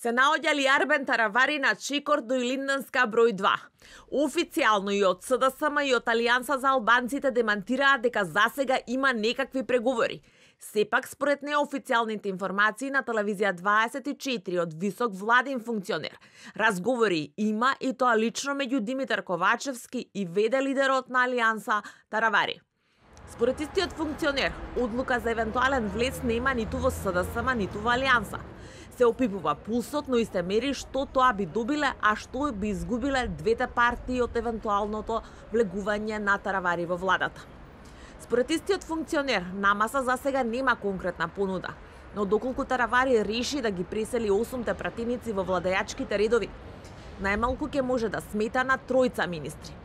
Се наоѓа ли Арбен Таравари на чекор до Илинденска број 2. Официјално и од СДСМ и од Алијанса за албанците демантираа дека засега има некакви преговори. Сепак, според неофицијалните информации на телевизија 24 од висок владин функционер, разговори има и тоа лично меѓу Димитар Ковачевски и веде лидерот на Алијанса Таравари. Според истиот функционер, одлука за евентуален влез нема ниту во СДСМ, ниту во Алијанса. Се опипува пулсот, но и се мери што тоа би добиле, а што би изгубиле двете партии од евентуалното влегување на Таравари во владата. Според истиот функционер, на маса засега нема конкретна понуда, но доколку Таравари реши да ги пресели 8 пратеници во владеачките редови, најмалку ќе може да смета на 3 министри.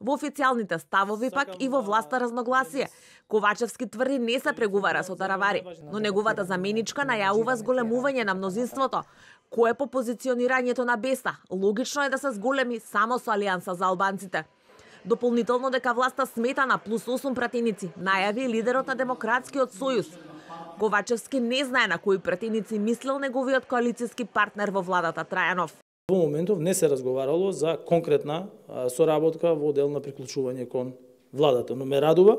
Во официјалните ставови пак и во власта разногласие. Ковачевски тврди не се преговара со Таравари, но неговата заменичка најавува зголемување на мнозинството, кое по позиционирањето на Беса логично е да се зголеми само со Алијанса за албанците. Дополнително дека власта смета на плюс 8 пратеници, најави лидерот на Демократскиот сојуз. Ковачевски не знае на кои пратеници мислел неговиот коалицијски партнер во владата Трајанов. Во моментов не се разговарало за конкретна соработка во дел на приклучување кон владата, но ме радува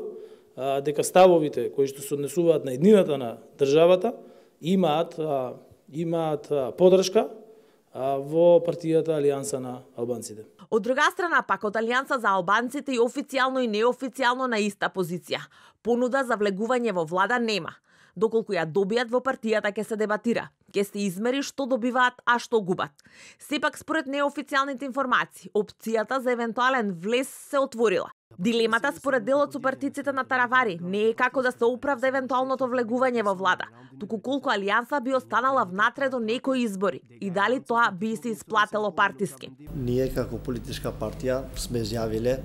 дека ставовите кои што се однесуваат на еднината на државата имаат поддршка во партијата Алијанса на албанците. Од друга страна пак од Алијанса за албанците и официјално и неофицијално на иста позиција. Понуда за влегување во влада нема. Доколку ја добијат во партијата ќе се дебатира, ќе се измери што добиваат, а што губат. Сепак според неофицијалните информации, опцијата за евентуален влез се отворила. Дилемата според делот со партиците на Таравари не е како да се оправда евентуалното влегување во влада, туку колку Алијанса би останала внатре до некои избори и дали тоа би се исплатело партиски. Ние како политичка партија сме изјавиле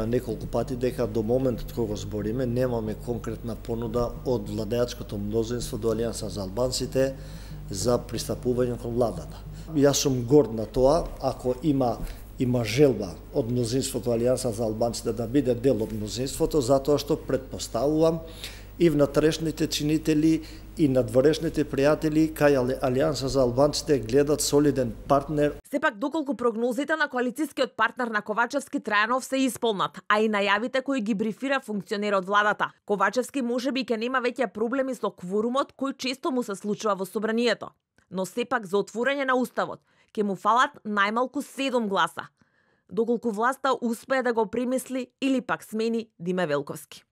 неколку пати дека до моментот кога збориме немаме конкретна понуда од владеачкото мнозинство до Алијанса за албанците за пристапување кон владата. Јас сум горд на тоа ако има желба од мнозинството Алијанса за албанците да биде дел од мнозинството, затоа што претпоставувам и внатрешните чинители и надворешните пријатели кај Алијанса за албанците гледат солиден партнер. Сепак доколку прогнозите на коалицијскиот партнер на Ковачевски Трајанов се исполнат, а и најавите кои ги брифира функционер од владата, Ковачевски можеби ќе нема веќе проблеми со кворумот кој често му се случува во собранието. Но сепак за отворање на уставот ќе му фалат најмалку 7 гласа, доколку власта успее да го премисли или пак смени Диме Велковски.